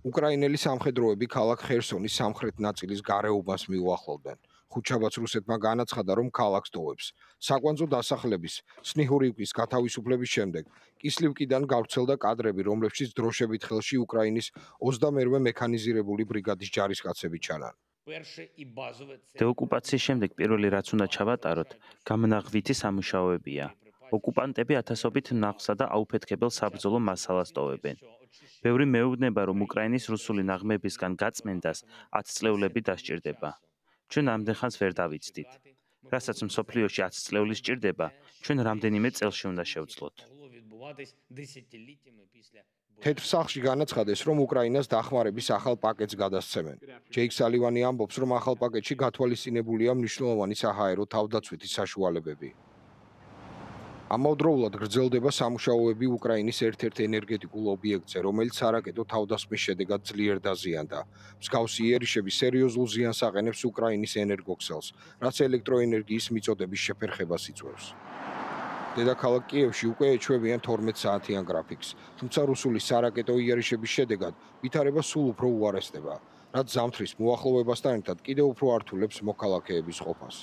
უკრაინელი სამხედროები ქალაქ ხერსონის სამხრეთ ნაწილის გარეუბანს მიუახლოვდნენ. ხუთშაბათს რუსეთმა განაცხადა, რომ ქალაქს ტოვებს. საკვანძო დასახლების სნიჰურივკის გათავისუფლების შემდეგ კისლივკიდან გავრცელდა კადრები, რომლებშიც დროშებით ხელში უკრაინის 22-მე მექანიზირებული ბრიგადის ჯარისკაცები ჩანან. დეოკუპაციის შემდეგ პირველი რაც უნდა ჩავატაროთ, გამნაღვითი სამუშაოებია. ოკუპანტები ათასობით ნაღსა და აუფეთქებელ საბრძოლო მასალას ტოვებენ. ბევრი მეუბნება, რომ უკრაინის რუსული ნაღმებისგან გაწმენდას 10 წლეულები დასჭირდება. ჩვენ ამდენხანს ვერ დავიცდით. რასაც მსოფლიოში 10 წლეული სჭირდება, ჩვენ რამდენიმე წელში უნდა შევძლოთ. თეთრ სახლში განაცხადეს, რომ უკრაინას დახმარების ახალ პაკეტს გადასცემენ. ჯეიკ სალივანი ამბობს, რომ ახალ პაკეტში გათვალისწინებულია მნიშვნელოვანი საჰაერო თავდაცვითი საშუალებები. ამავდროულად გრძელდება სამუშაოები უკრაინის ერთ-ერთ ენერგეტიკულ ობიექტზე, რომელიც სარაკეტო თავდასხმის შედეგად ძლიერ დაზიანდა. მსგავსი იერიშები სერიოზულ ზიანს აყენებს უკრაინის ენერგოქსელს, რაც ელექტროენერგიის მიწოდების შეფერხებას იწვევს. დედაქალაქ კიევში უკვე ეჩვევიან 12 საათიან გრაფიკს, თუმცა რუსული სარაკეტო იერიშების შედეგად ვითარება სულ უფრო უარესდება, რაც ზამთრის მოახლოვებასთან ერთად კიდევ უფრო ართულებს მოქალაქეების ყოფას.